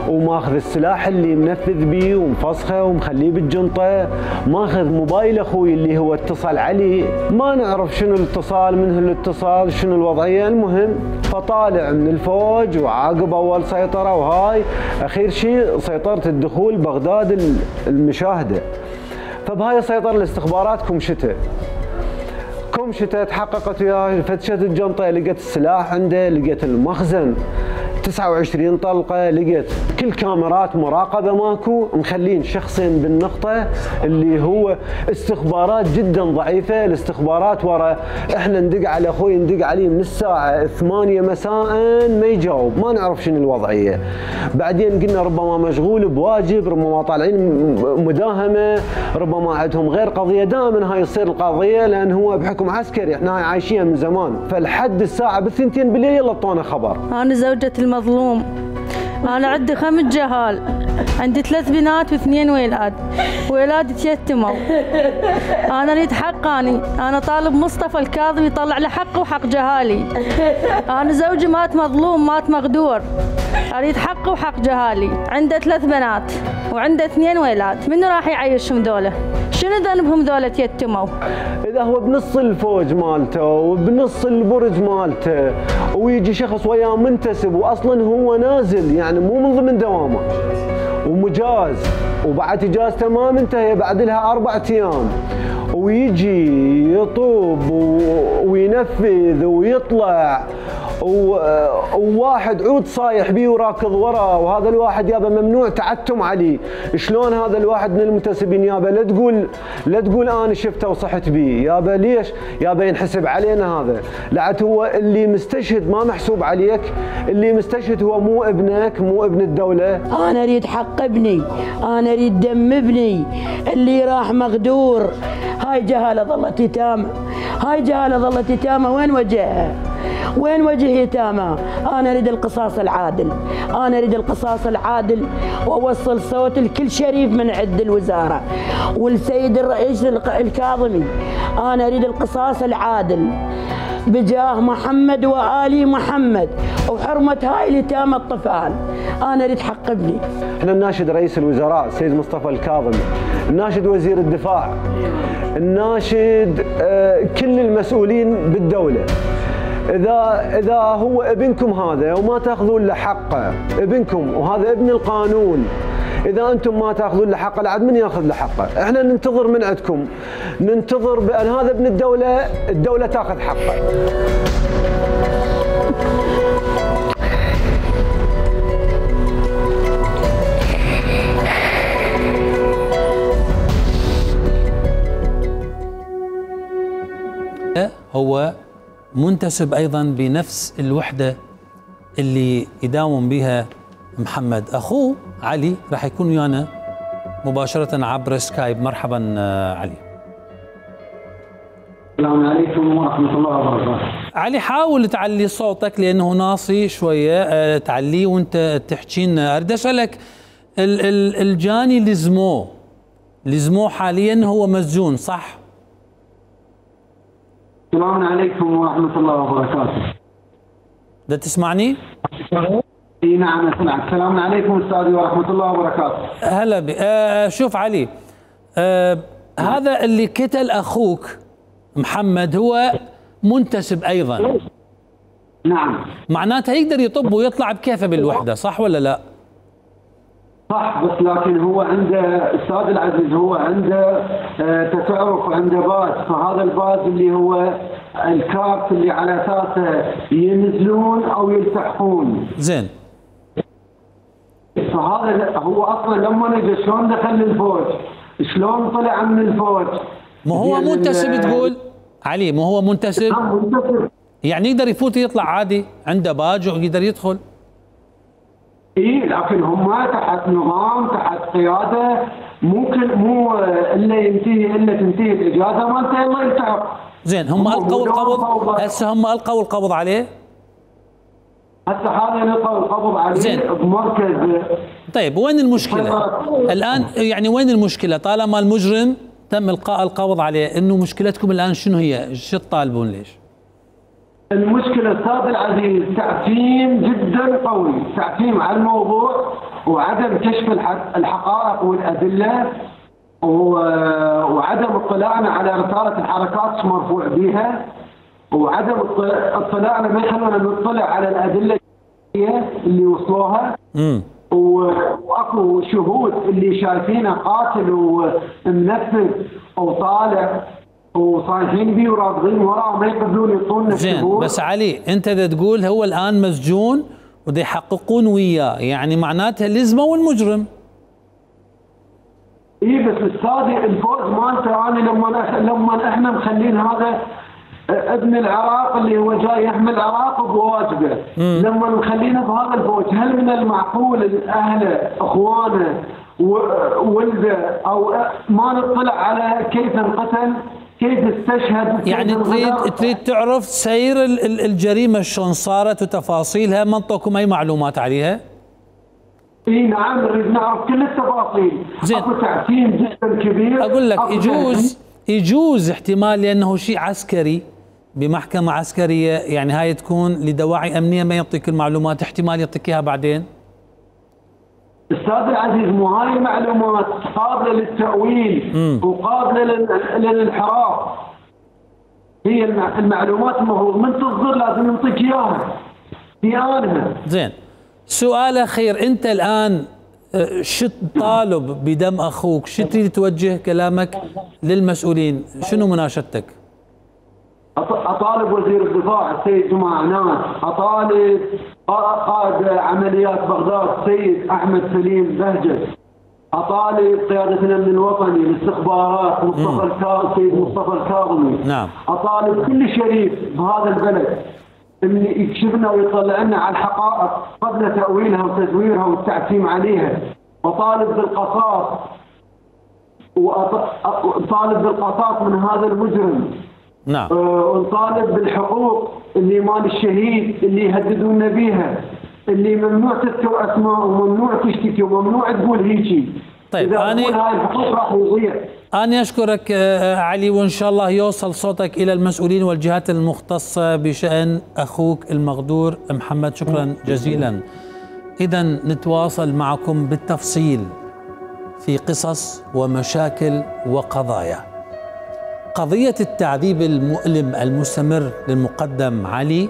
وماخذ السلاح اللي منفذ بيه ومفسخه ومخليه بالجنطة، ماخذ موبايل اخوي اللي هو اتصل عليه، ما نعرف شنو الاتصال، منه الاتصال، شنو الوضعية. المهم فطالع من الفوج وعاقب اول سيطرة، وهاي اخير شيء سيطرة الدخول بغداد المشاهدة. فبهاي سيطر الاستخبارات كمشته كمشته تحققت وياه، فتشت الجنطه لقيت السلاح عنده، لقيت المخزن تسعة وعشرين طلقه، لقيت كل كاميرات مراقبه ماكو، مخلين شخصين بالنقطه اللي هو استخبارات جدا ضعيفه. الاستخبارات ورا احنا ندق على اخوي، ندق عليه من الساعه ثمانية مساء ما يجاوب، ما نعرف شنو الوضعيه. بعدين قلنا ربما مشغول بواجب، ربما طالعين مداهمه، ربما عندهم غير قضيه. دائما هاي يصير القضيه لان هو بحكم عسكري، احنا هاي عايشين من زمان. فلحد الساعه بالثنتين بالليل يلا اعطونا خبر. انا زوجة المظلوم، أنا عندي خمس جهال، عندي ثلاث بنات واثنين ولاد، ولادي تيتموا. أنا أريد حقاني، أنا طالب مصطفى الكاظم يطلع لي حقي وحق جهالي. أنا زوجي مات مظلوم، مات مغدور، اريد حقي وحق جهالي. عنده ثلاث بنات وعنده اثنين ولاد، منو راح يعيشهم ذولا؟ شنو ذنبهم ذولا يتموا؟ اذا هو بنص الفوج مالته وبنص البرج مالته ويجي شخص وياه منتسب واصلا هو نازل يعني مو من ضمن دوامه ومجاز وبعد اجازته ما منتهيه بعد لها اربع ايام ويجي يطوب وينفذ ويطلع وواحد عود صايح بيه وراكض وراه وهذا الواحد يابا ممنوع تعتم عليه. شلون هذا الواحد من المنتسبين يابا لا تقول لا تقول انا شفته وصحت بيه يابا ليش؟ يابا ينحسب علينا هذا. لعت هو اللي مستشهد ما محسوب عليك، اللي مستشهد هو مو ابنك مو ابن الدولة. انا اريد حق ابني، انا اريد دم ابني اللي راح مغدور. هاي جهالة ظلت يتامى، هاي جهالة ظلت يتامى. وين وجهها؟ وين وجه يتامى؟ انا اريد القصاص العادل، انا اريد القصاص العادل واوصل صوت الكل شريف من عند الوزاره والسيد الرئيس الكاظمي. انا اريد القصاص العادل بجاه محمد وآل محمد وحرمة هاي اليتامى الطفال. انا اريد حق ابني. احنا نناشد رئيس الوزراء السيد مصطفى الكاظمي، نناشد وزير الدفاع، نناشد كل المسؤولين بالدولة. إذا إذا هو ابنكم هذا وما تاخذون له حقه، ابنكم وهذا ابن القانون، إذا أنتم ما تاخذون له حقه لعد من ياخذ له حقه؟ إحنا ننتظر من عندكم، ننتظر بأن هذا ابن الدولة، الدولة تاخذ حقه. هو منتسب أيضا بنفس الوحدة اللي يداوم بها محمد. أخوه علي راح يكون ويانا مباشرة عبر سكايب. مرحبا علي. السلام عليكم ورحمة الله وبركاته. علي حاول تعلي صوتك لأنه ناصي شوية، تعليه وانت تحكي لنا. أريد أسألك الجاني لزموه لزموه حاليا هو مسجون صح؟ السلام عليكم ورحمة الله وبركاته. ده تسمعني؟ اي نعم اسمعك. السلام عليكم استاذي ورحمة الله وبركاته. هلا بي. آه شوف علي، آه هذا اللي قتل اخوك محمد هو منتسب ايضا. نعم. معناتها يقدر يطب ويطلع بكيفه بالوحدة صح ولا لا؟ صح، بس لكن هو عنده استاذ العزيز هو عنده آه تتعرف وعنده باز، فهذا الباز اللي هو الكارت اللي على اساسه ينزلون او يلتحقون. زين. فهذا هو اصلا لما اجى شلون دخل الفوج؟ شلون طلع من الفوج؟ ما هو منتسب تقول؟ علي ما هو منتسب؟ منتسب. يعني يقدر يفوت ويطلع عادي، عنده باج ويقدر يدخل. اي لكن هم تحت نظام تحت قياده، ممكن مو الا ينتهي الا تنتهي الاجازه مالته الا يلتحق. زين هم القوا القبض هسه هم القوا القبض عليه؟ هسه هذا القوا القبض عليه زين. بمركز. طيب وين المشكله؟ الان يعني وين المشكله؟ طالما المجرم تم القاء القبض عليه، انه مشكلتكم الان شنو هي؟ شو تطالبون ليش؟ المشكلة أستاذ العزيز تعتيم جدا قوي، تعتيم على الموضوع وعدم كشف الحقائق والأدلة وعدم اطلاعنا على رسالة الحركات مرفوع بها وعدم اطلاعنا ما يخلونا نطلع على الأدلة اللي وصلوها. امم واكو شهود اللي شايفينه قاتل ومنفذ وطالع وصايحين بيه وراضين وراه ما يقبلون يعطونا زين. بس علي انت اذا تقول هو الان مسجون وده يحققون وياه، يعني معناتها لزموا المجرم. اي بس استاذي الفوز مالته انا لما لما احنا مخلين هذا ابن العراق اللي هو جاي يحمل العراق بواجبه، لما مخلينه بهذا الفوج هل من المعقول اهله اخوانه وولده او ما نطلع على كيف انقتل؟ كيف استشهد؟ يعني تريد تريد تعرف سير الجريمه شلون صارت وتفاصيلها، ما انطوكم اي معلومات عليها؟ اي نعم نريد نعرف كل التفاصيل. زين. اكو تعتيم جدا كبير. اقول لك يجوز يجوز احتمال لانه شيء عسكري بمحكمه عسكريه، يعني هاي تكون لدواعي امنيه ما يعطيك المعلومات، احتمال يعطيك اياها بعدين. استاذ العزيز مو هاي المعلومات قابله للتاويل وقابله للانحراف. هي المعلومات المفروض من تصدر لازم نعطيك اياها في انها. زين، سؤال اخير، انت الان شو تطالب بدم اخوك؟ شو تريد توجه كلامك للمسؤولين؟ شنو مناشدتك؟ اطالب وزير الدفاع السيد جمعه عنان، اطالب قائد عمليات بغداد السيد احمد سليم بهجت، اطالب قياده الامن الوطني الاستخبارات مصطفى السيد مصطفى الكاظمي. نعم. اطالب كل شريف بهذا البلد ان يكشف لنا ويطلع لنا على الحقائق قبل تاويلها وتزويرها والتعتيم عليها. وطالب بالقصاص وطالب بالقصاص من هذا المجرم. نعم. ونطالب بالحقوق اللي مال الشهيد اللي يهددونا بيها، اللي ممنوع تذكر اسماء وممنوع تشتكي وممنوع تقول هيجي. طيب اذا أنا هاي الحقوق راح يضيع. أنا أشكرك علي، وإن شاء الله يوصل صوتك إلى المسؤولين والجهات المختصة بشأن أخوك المغدور محمد. شكرا جزيلا. إذا نتواصل معكم بالتفصيل في قصص ومشاكل وقضايا. قضية التعذيب المؤلم المستمر للمقدم علي،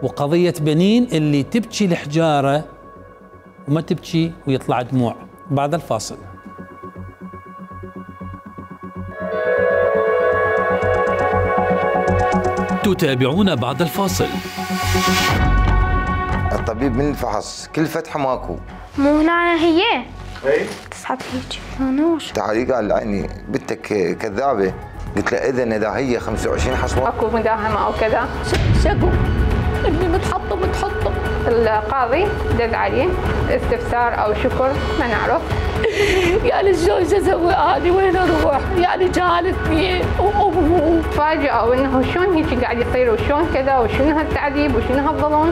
وقضية بنين اللي تبكي الحجارة وما تبكي ويطلع دموع. بعد الفاصل. تتابعون بعد الفاصل. الطبيب من الفحص كل فتحة ماكو. مو هنا هي؟ اي تسحب هيك انا وش تعالي قال يعني بنتك كذابة. قلت له اذا اذا هي خمسة وعشرين حصوة اكو مداهمة او كذا. شكو اللي متحطم متحطم. القاضي دز عليه استفسار او شكر ما نعرف. يعني شلون اسوي اني وين اروح؟ يعني جالتني وامه تفاجئوا انه شلون هيك قاعد يصير وشلون كذا وشنو هالتعذيب وشنو هالظلم.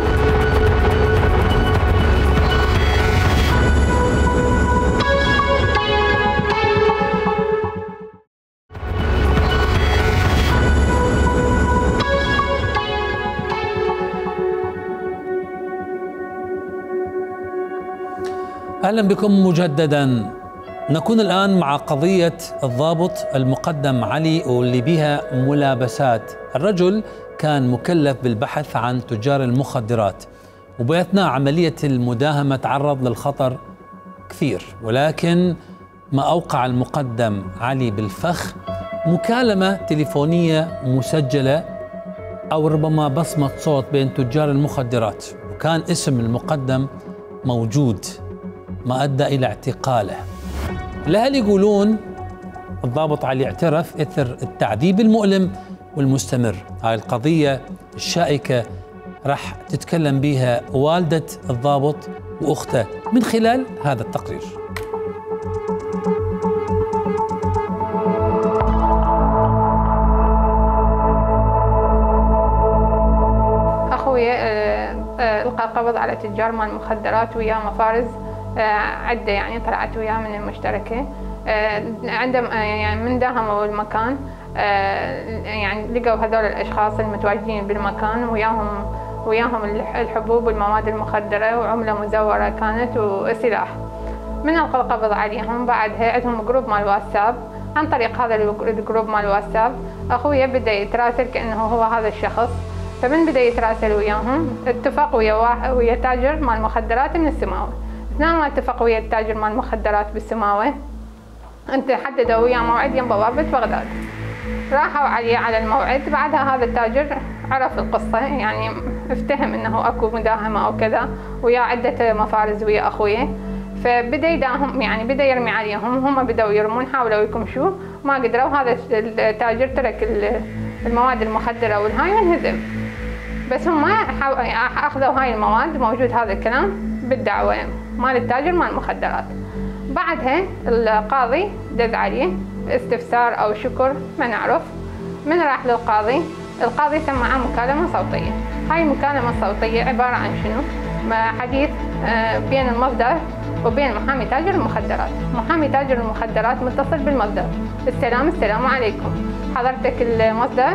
أهلا بكم مجددا. نكون الآن مع قضية الضابط المقدم علي واللي بها ملابسات. الرجل كان مكلف بالبحث عن تجار المخدرات، وبأثناء عملية المداهمة تعرض للخطر كثير، ولكن ما أوقع المقدم علي بالفخ مكالمة تليفونية مسجلة أو ربما بصمة صوت بين تجار المخدرات، وكان اسم المقدم موجود، ما أدى إلى اعتقاله. الأهل يقولون الضابط علي اعترف إثر التعذيب المؤلم والمستمر. هاي القضية الشائكة راح تتكلم بها والدة الضابط وأخته من خلال هذا التقرير. أخوي ألقى القبض على تجار مال المخدرات وياه مفارز عدة، يعني طلعت وياه من المشتركة. عندما يعني من داهموا المكان يعني لقوا هذول الأشخاص المتواجدين بالمكان وياهم وياهم الحبوب والمواد المخدرة وعملة مزورة كانت وسلاح. من ألقى القبض عليهم بعدها عندهم جروب مال واتساب. عن طريق هذا الجروب مال واتساب أخويا بدأ يتراسل كأنه هو هذا الشخص. فمن بدأ يتراسل وياهم اتفق ويا ويا تاجر مال المخدرات من السماوة. اثناء ما اتفق ويا التاجر مال المخدرات بالسماوة انت حددوا وياه موعد يم بوابة بغداد. راحوا عليه على الموعد. بعدها هذا التاجر عرف القصة، يعني افتهم انه اكو مداهمة او كذا ويا عدة مفارز ويا اخويا. فبدأ يداهم يعني بدأ يرمي عليهم، هم بدأوا يرمون، حاولوا يكمشوا ما قدروا. هذا التاجر ترك المواد المخدرة والهاي وانهزم. بس هم اخذوا هاي المواد، موجود هذا الكلام بالدعوة مال التاجر مال المخدرات. بعدها القاضي دز عليه استفسار او شكر ما نعرف. من راح للقاضي، القاضي سمعه مكالمة صوتية. هاي المكالمة الصوتية عبارة عن شنو؟ حديث بين المصدر وبين محامي تاجر المخدرات. محامي تاجر المخدرات متصل بالمصدر. السلام السلام عليكم، حضرتك المصدر؟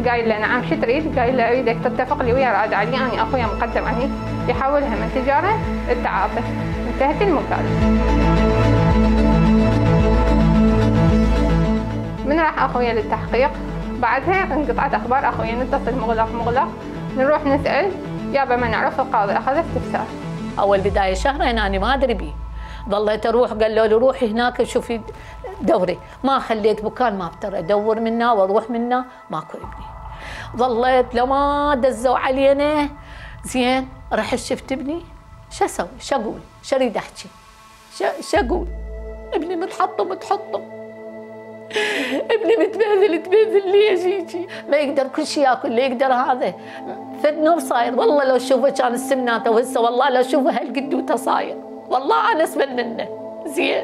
قايل له نعم، شو تريد؟ قايل له اريدك تتفق لي ويا راد علي، انا اخويا مقدم علي يحولها من تجاره التعاطف، من انتهت المكالمة. من راح أخويا للتحقيق، بعدها انقطعت أخبار أخويا، نتصل مغلق مغلق، نروح نسأل يابا ما نعرف، القاضي أخذ استفسار. أول بداية شهرين أنا ما أدري بيه، ظليت أروح قال له روحي هناك شوفي دوري، ما خليت مكان ما أقدر أدور منه وأروح منه، ماكو ابني. ظليت لما دزوا علينا زين، رحت شفت ابني، شو أسوي؟ شو أقول؟ شو أريد أحكي؟ شو أقول؟ ابني متحطم متحطم، ابني متبهذل تبهذل ليش هيجي؟ ما يقدر كل شيء ياكل، لا يقدر هذا، فد نوب صاير، والله لو شوفه كان السمناته، وهسه والله لو شوفه هالقدوته صاير، والله أنا أسمن منه، زين؟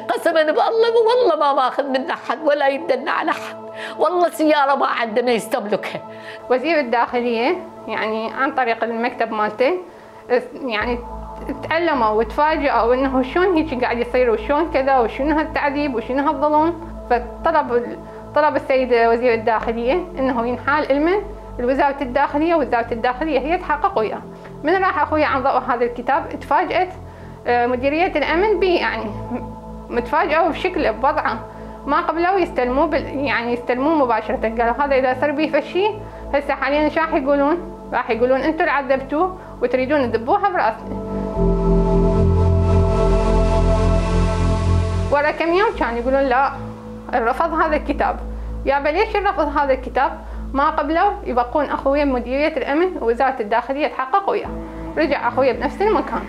قسما بالله والله ما ماخذ منه حد ولا يدنا على حد، والله سيارة ما عنده ما يستملكها. وزير الداخلية يعني عن طريق المكتب مالته يعني تعلموا وتفاجئوا انه شلون هيك قاعد يصير وشلون كذا وشنو هالتعذيب وشنو هالظلم، فطلب طلب السيد وزير الداخلية انه ينحال المن لوزارة الداخلية، ووزارة الداخلية هي تحقق وياه. من راح اخويا عن ضوء هذا الكتاب تفاجأت مديرية الامن به، يعني متفاجئوا بشكله بوضعه، ما قبلوا يستلموه بال... يعني يستلموه مباشرة، قالوا هذا اذا صار به فشي هسه حاليا ايش راح يقولون؟ راح يقولون انتم اللي عذبتوه وتريدون تذبوها براسنا. ورا كم يوم كانوا يقولون لا رفض هذا الكتاب. يابا ليش رفض هذا الكتاب؟ ما قبلوا يبقون اخويا بمديرية الامن ووزارة الداخلية تحقق وياه. رجع اخويا بنفس المكان.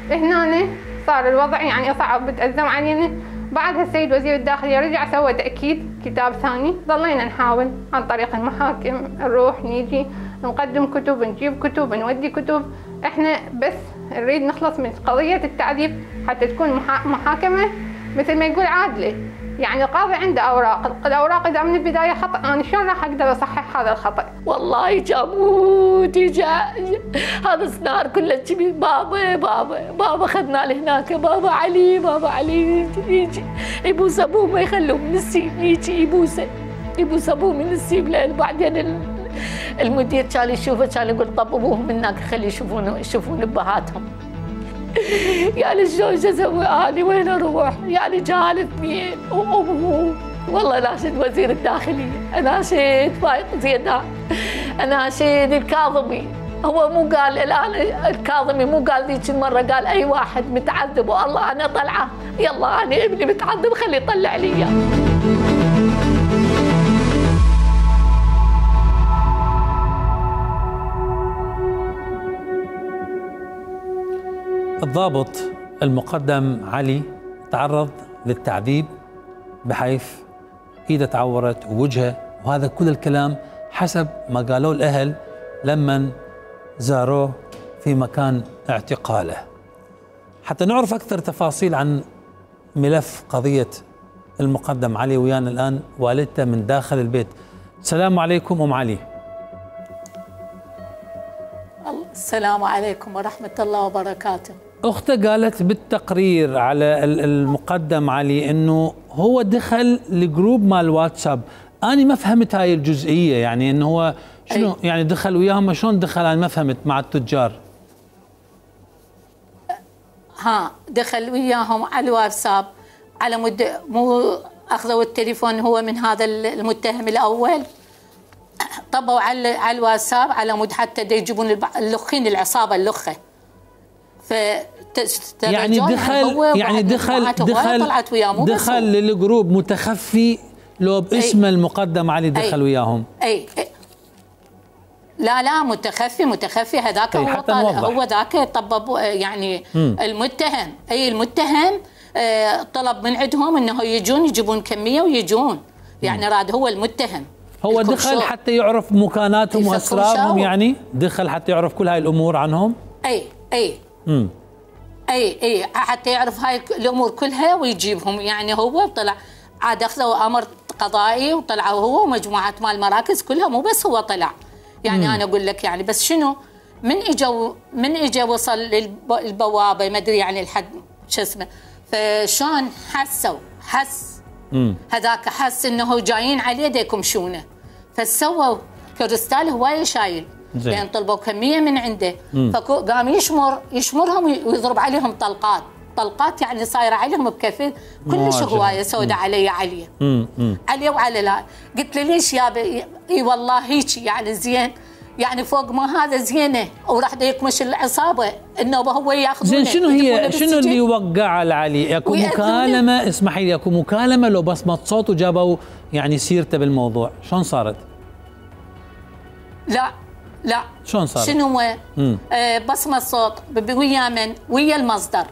هنا صار الوضع يعني صعب، بتأزم علينا. بعدها السيد وزير الداخلية رجع سوى تأكيد كتاب ثاني، ظلينا نحاول عن طريق المحاكم نروح نيجي نقدم كتب، نجيب كتب، نودي كتب، احنا بس نريد نخلص من قضية التعذيب حتى تكون محاكمة مثل ما يقول عادلة. يعني القاضي عنده أوراق، الأوراق إذا من البداية خطأ، أنا شلون راح أقدر أصحح هذا الخطأ؟ والله جابوت جا هذا السنار كله تبي بابا بابا بابا خذنا لهناك، بابا علي بابا علي يجي يبوس أبوه ما يخلوه من السيب، يجي يبوسه يبوس أبوه من السيب. لأن بعدين المدير كان يشوفه كان يقول طب أبوه منك خلي يشوفون يشوفون أبهاتهم. يعني شلون شو اسوي اني وين اروح؟ يعني جال اثنين وامه. والله ناشد وزير الداخليه، اناشد فايق زيدان، اناشد الكاظمي. هو مو قال الان الكاظمي مو قال ذيك المره، قال اي واحد متعذب والله انا طلعه، يلا انا ابني متعذب خليه يطلع لي اياه. الضابط المقدم علي تعرض للتعذيب بحيث ايده تعورت ووجهه، وهذا كل الكلام حسب ما قالوا الاهل لما زاروه في مكان اعتقاله. حتى نعرف اكثر تفاصيل عن ملف قضيه المقدم علي ويانا الان والدته من داخل البيت. السلام عليكم ام علي. السلام عليكم ورحمه الله وبركاته. أخته قالت بالتقرير على المقدم علي أنه هو دخل لجروب مال واتساب. أنا ما فهمت هاي الجزئية، يعني أنه هو شنو أي. يعني دخل وياهم، شلون دخل؟ أنا ما فهمت مع التجار. ها دخل وياهم على الواتساب على مد مو أخذوا التليفون هو من هذا المتهم الأول، طبوا على على الواتساب على مود حتى يجيبون اللخين العصابة اللخة. ف يعني دخل يعني دخل دخل دخل للجروب متخفي لو باسم المقدم علي دخل أي وياهم. أي, أي لا لا متخفي متخفي هذاك هو هو ذاك طبب يعني م. المتهم اي المتهم طلب من عندهم انه يجون يجيبون كميه ويجون، يعني راد هو المتهم هو دخل حتى يعرف مكاناتهم واسرارهم، يعني دخل حتى يعرف كل هاي الامور عنهم. اي اي امم اي اي حتى يعرف هاي الامور كلها ويجيبهم. يعني هو طلع عاد اخذوا امر قضائي وطلعوا هو ومجموعه مال المراكز كلها، مو بس هو طلع. يعني مم. انا اقول لك يعني بس شنو من اجوا من اجى وصل للبوابه ما ادري يعني الحد شو اسمه، فشلون حسوا حس مم. هذاك حس انه جايين عليه دا يكمشونه، فسووا كريستال هوايه شايل لان طلبوا كميه من عنده، فقام يشمر يشمرهم ويضرب عليهم طلقات، طلقات يعني صايره عليهم بكفي كلش هوايه سوداء علي عليه عليه وعلى لا. قلت له ليش يابا؟ اي والله هيك يعني زين، يعني فوق ما هذا زينه وراح يكمش العصابه النوبه هو ياخذونه. زين شنو هي شنو اللي وقع على علي؟ اكو مكالمه، اسمحي لي، اكو مكالمه لو بصمه صوت وجابوا يعني سيرته بالموضوع، شلون صارت؟ لا لا شلون صارت؟ شنو هو؟ آه بصمه صوت ويا من؟ ويا المصدر،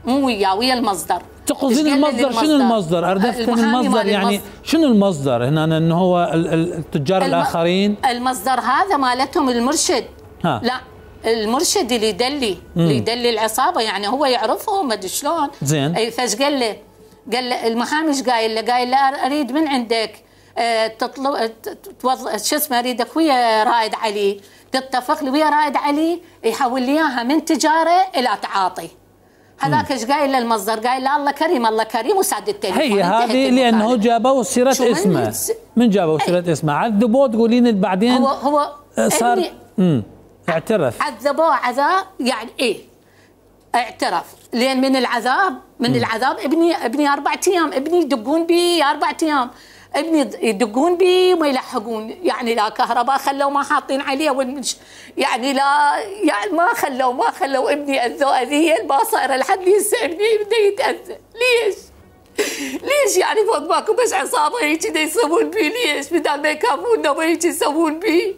مو وياه، ويا المصدر. تقصدين المصدر؟ شنو المصدر؟ اردفت من المصدر يعني شنو المصدر هنا؟ انه هو التجار الم... الاخرين؟ المصدر هذا مالتهم المرشد. ها. لا المرشد اللي يدلي اللي يدلي العصابه، يعني هو يعرفهم ما ادري شلون. زين. اي فايش قال له؟ قال له المحامي ايش قايل له؟ قايل له اريد من عندك أه تطلب توظ... شو اسمه اريدك ويا رائد علي تتفق لي ويا رائد علي يحول لي اياها من تجاره الى تعاطي. هذاك ايش قايل للمصدر؟ قايل له الله كريم الله كريم وسعد التليفون. هي هذه لانه جابوا سيره اسمه. من جابوا سيره اسمه؟ عذبوه تقولين بعدين هو هو صار امم اعترف. عذبوه عذاب يعني ايه؟ اعترف لين من العذاب من مم. العذاب ابني ابني اربع ايام ابني يدقون بي اربع ايام ابني يدقون بي وما يلحقون، يعني لا كهرباء خلوا ما حاطين عليه والمش يعني لا يعني ما خلوا ما خلوا ابني اذوا اذيه ما صايره لحد هسه ابني بده يتاذى. ليش؟ ليش يعني فوق ماكو بس عصابه هيك دا يسوون بي؟ ليش؟ بدال ما يكافونا ما هيك يسوون بي؟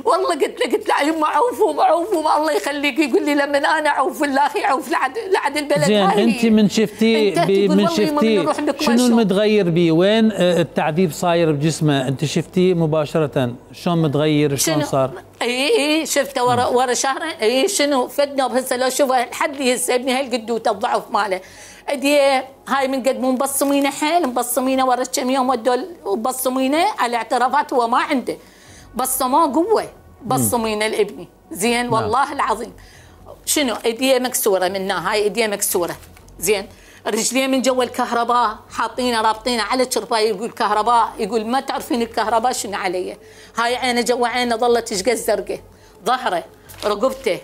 والله قلت له قلت له يما عوفوا عوفوا الله يخليك. يقول لي لما انا اعوف الله يعوف لعد لعد البلد. زين انت من شفتي من شفتي شنو المتغير بيه؟ وين التعذيب صاير بجسمه؟ انت شفتيه مباشره شلون متغير شلون صار؟ اي اي شفته ورا ورا شهرين. اي شنو فدنا هسه لو شوفه لحد هسه ابني هالقدوته الضعف ماله ايديه هاي من قد مو مبصمينه حيل مبصمينه ورا كم يوم ودوا مبصمينه على اعترافات هو ما عنده بصموه قوه بصمين الابني زين. والله نعم. العظيم شنو ايديه مكسوره منها هاي ايديه مكسوره زين. رجليه من جوا الكهرباء حاطينه رابطينه على الشرفايه. يقول كهرباء يقول ما تعرفين الكهرباء شنو علي. هاي عينه جوا عينه ظلت تشقى زرقاء. ظهره رقبته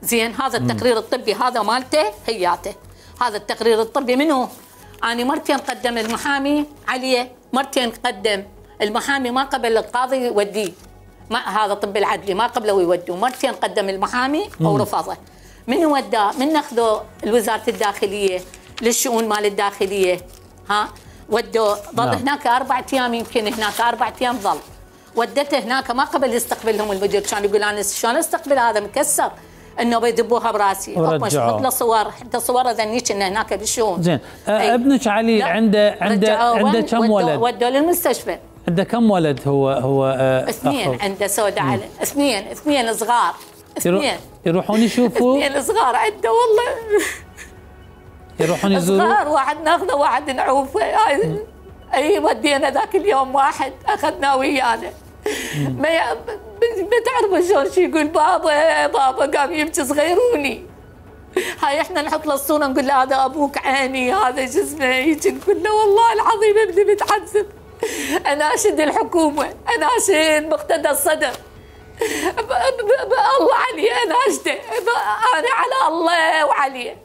زين. هذا التقرير الطبي هذا مالته هياته. هذا التقرير الطبي منو؟ أنا مرتين قدم المحامي عليه مرتين قدم المحامي ما قبل القاضي يوديه. ما هذا طب العدلي ما قبله يودوه. مرتين قدم المحامي ورفضه. من وداه؟ من اخذوا الوزاره الداخليه للشؤون مال الداخليه ها ودوه. ظل نعم. هناك اربع ايام يمكن هناك اربع ايام ظل. ودته هناك ما قبل يستقبلهم المدير. كان يقول انا شلون استقبل هذا مكسر انه بيدبوها براسي. حط له صور حتى صوره ذنيك انه هناك بالشؤون. زين ابنك علي عنده عنده عنده كم ولد؟ ودوه للمستشفى. عنده كم ولد هو هو آه اثنين عنده سوداء على اثنين اثنين صغار اثنين يروحون يشوفوا اثنين صغار عنده والله يروحون يزوروا صغار. واحد ناخذه واحد نعوفه. اي ودينا ذاك اليوم واحد اخذناه ويانا. ما ي... ما تعرفوا شلون شو يقول بابا بابا قام يبكي صغيروني. هاي احنا نحط له الصوره نقول له هذا ابوك عيني هذا شو اسمه هيك نقول له والله العظيم ابني متعذب. اناشد الحكومه اناشد مقتدى الصدر الله علي اناشده انا على الله وعليه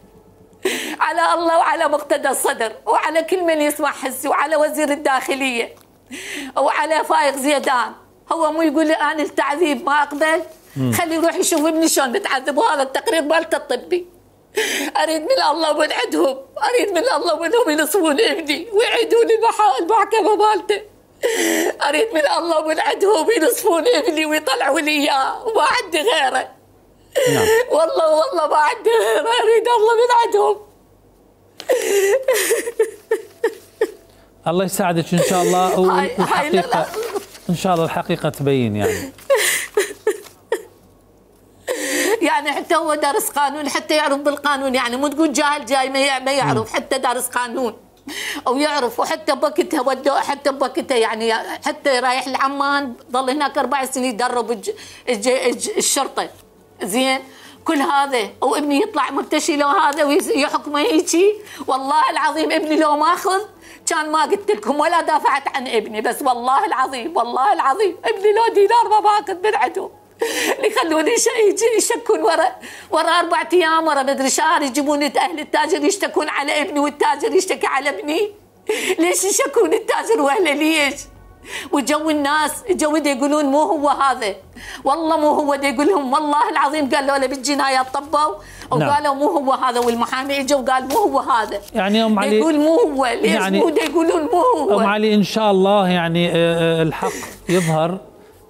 على الله وعلى مقتدى الصدر وعلى كل من يسمع حسي وعلى وزير الداخليه وعلى فايق زيدان. هو مو يقول لي انا التعذيب ما اقبل. خلي يروح يشوف ابني شلون بتعذب. وهذا التقرير مالته الطبي. اريد من الله من عندهم اريد من الله منهم ينصفون ابني ويعيدون المحكمه مالته. اريد من الله من عندهم ينصفون ابني ويطلعوا لي اياه وما عندي غيره. نعم. والله والله ما عندي غيره. اريد الله من عندهم. الله يساعدك ان شاء الله. والحقيقه ان شاء الله الحقيقه تبين يعني. يعني حتى هو دارس قانون حتى يعرف بالقانون. يعني مو تقول جاهل جاي ما يعرف. حتى دارس قانون او يعرف. وحتى بوقتها ودوه حتى بوقتها يعني حتى رايح لعمان ظل هناك اربع سنين يدرب الج... الج... الج... الشرطه زين. كل هذا وابني يطلع مرتشي لو هذا ويحكمه هيجي. والله العظيم ابني لو ما اخذ كان ما قلت لكم ولا دافعت عن ابني. بس والله العظيم والله العظيم ابني لو دينار ما باخذ من عندهم. يخلوني يشكون ورا ورا اربع ايام ورا مدري شهر يجيبون اهل التاجر يشتكون على ابني والتاجر يشتكي على ابني. ليش يشكون التاجر واهله ليش؟ وجو الناس جو يقولون مو هو هذا، والله مو هو، دي يقول لهم والله العظيم قالوا له بالجنايات طبوا وقالوا مو هو هذا، والمحامي اجوا وقال مو هو هذا. يعني ام علي يقول مو هو، ليش يعني مو يقولون مو هو؟ ام علي ان شاء الله يعني الحق يظهر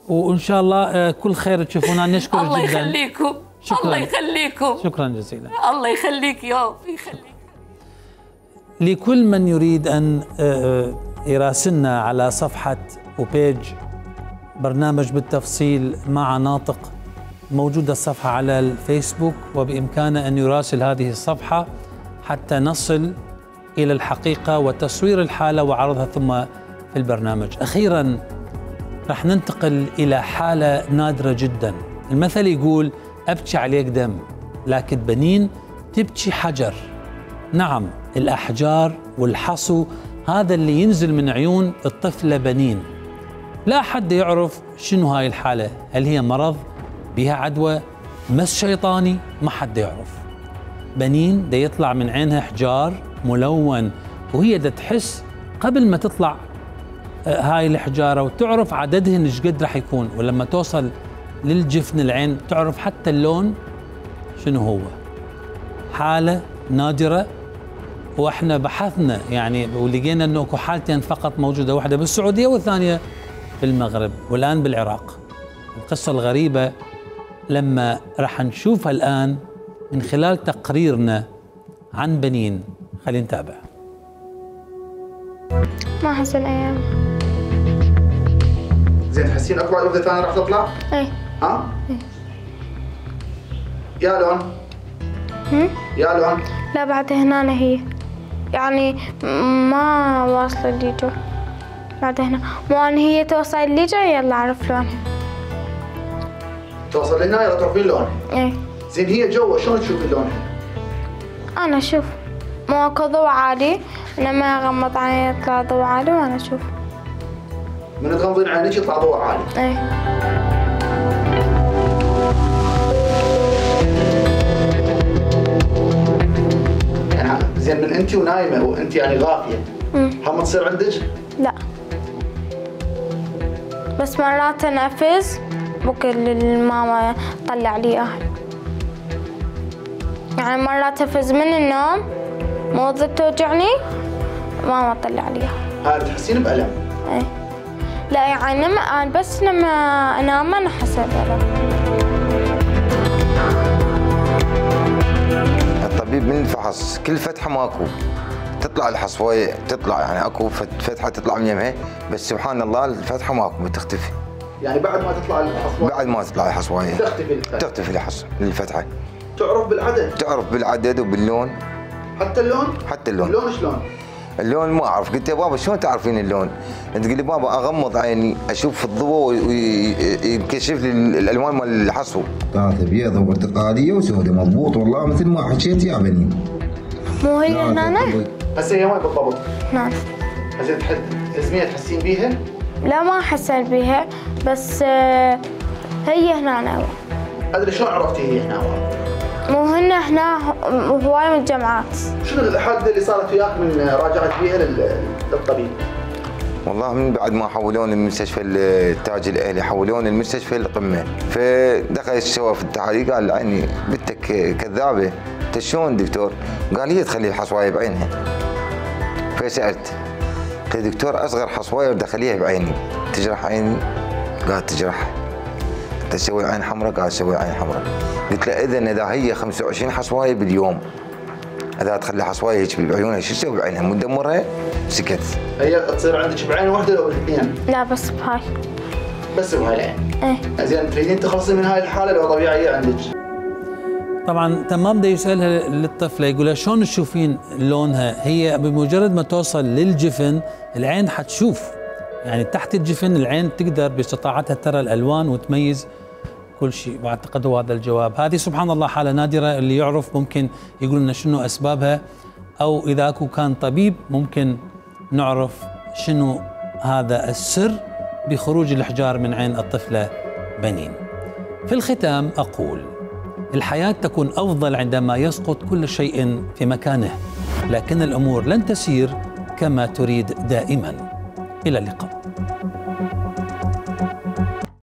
وان شاء الله كل خير تشوفونا. نشكر الله جدا. الله يخليكم. شكرا. الله يخليكم. شكرا جزيلا. الله يخليك يا يخليك. لكل من يريد ان يراسلنا على صفحه وبيج برنامج بالتفصيل مع ناطق، موجوده الصفحه على الفيسبوك، وبامكانه ان يراسل هذه الصفحه حتى نصل الى الحقيقه وتصوير الحاله وعرضها ثم في البرنامج. اخيرا رح ننتقل إلى حالة نادرة جدا. المثل يقول أبكي عليك دم لكن بنين تبكي حجر. نعم، الأحجار والحصو هذا اللي ينزل من عيون الطفلة بنين. لا حد يعرف شنو هاي الحالة، هل هي مرض بها عدوى مس شيطاني، ما حد يعرف. بنين دا يطلع من عينها حجار ملون وهي دا تحس قبل ما تطلع هاي الحجارة وتعرف عددهن ايش قد راح يكون، ولما توصل للجفن العين تعرف حتى اللون شنو هو. حالة نادرة، واحنا بحثنا يعني ولقينا انه اكو حالتين فقط موجودة، واحدة بالسعودية والثانية بالمغرب والآن بالعراق. القصة الغريبة لما راح نشوفها الآن من خلال تقريرنا عن بنين. خلينا نتابع. ما أحس الأيام. زين تحسين اكو وحده ثانيه راح تطلع؟ اي. ها؟ اي. يا لون؟ هم؟ يا لون؟ لا بعد هنا هي. يعني ما واصلة لي جو. بعد هنا، مو أن هي توصل لي جو يلا أعرف لونها. توصل لهنا يلا تعرفين لونها؟ اي. زين هي جوا شلون تشوفين لونها؟ أنا أشوف. مو اكو ضوء عالي، لما اغمض عيني يطلع ضوء عالي وانا اشوف. من تغمضين عينيك يطلع ضوء عالي؟ اي. يعني زين من انت ونايمه وانت يعني غافيه، هم تصير عندك؟ لا. بس مرات انفز بكل الماما تطلع لي اياها. يعني مرات انفز من النوم موضة توجعني ماما تطلع لي اياها. هاي تحسين بألم؟ اي. لا يعني لما بس لما انام انا احس بألم. الطبيب من الفحص كل فتحه ماكو تطلع الحصوية، تطلع يعني اكو فتحه تطلع من يمها، بس سبحان الله الفتحه ماكو بتختفي. يعني بعد ما تطلع الحصوية؟ بعد ما تطلع الحصوية تختفي الفتحه. تختفي الحص الفتحه. تعرف بالعدد؟ تعرف بالعدد وباللون. حتى اللون؟ حتى اللون. اللون شلون؟ اللون ما اعرف. قلت يا بابا شلون تعرفين اللون؟ انت تقول لي بابا اغمض عيني اشوف الضوء ويكشف لي الالوان مال الحصو. ثلاثة بيضة وبرتقالية وسوداء، مضبوط والله مثل ما حكيت يا بني. مو هي هنا؟ هسه هي وين بالضبط؟ نعم. هسه تحد تزمية تحسين بيها؟ لا ما حسيت بيها، بس هي هنا. ادري شلون عرفتي هي هنا؟ مو هن هنا هواي من الجامعات. شنو الحادثة اللي صارت وياك من راجعت بيها للطبيب؟ والله من بعد ما حولون المستشفى التاج الاهلي حولون المستشفى القمه، فدخل سوى في التحاليل قال عيني بنتك كذابه. قلت شلون دكتور؟ قال هي تخلي الحصوايه بعينها. فسالت قلت دكتور اصغر حصوايه ودخليها بعيني تجرح عيني؟ قال تجرح. قلت تسوي عين حمراء؟ قال سوي عين حمراء. قلت له اذا اذا هي خمسة وعشرين حصوايه باليوم، اذا تخلي حصوايه هيك بعيونها شو تسوي بعينها؟ مدمرها؟ سكت. هي تصير عندك بعين واحده لو بالاثنين؟ لا بس بهاي. بس بهاي العين؟ ايه. زين تريدين تخلصي من هاي الحاله لو طبيعيه عندك؟ طبعا تمام. ده يسالها للطفله يقول لها شلون تشوفين لونها؟ هي بمجرد ما توصل للجفن العين حتشوف، يعني تحت الجفن العين تقدر باستطاعتها ترى الالوان وتميز كل شيء. واعتقد هو هذا الجواب. هذه سبحان الله حاله نادره، اللي يعرف ممكن يقول لنا شنو اسبابها، او اذا اكو كان طبيب ممكن نعرف شنو هذا السر بخروج الحجار من عين الطفله بنين. في الختام أقول: الحياة تكون أفضل عندما يسقط كل شيء في مكانه، لكن الأمور لن تسير كما تريد دائما. إلى اللقاء.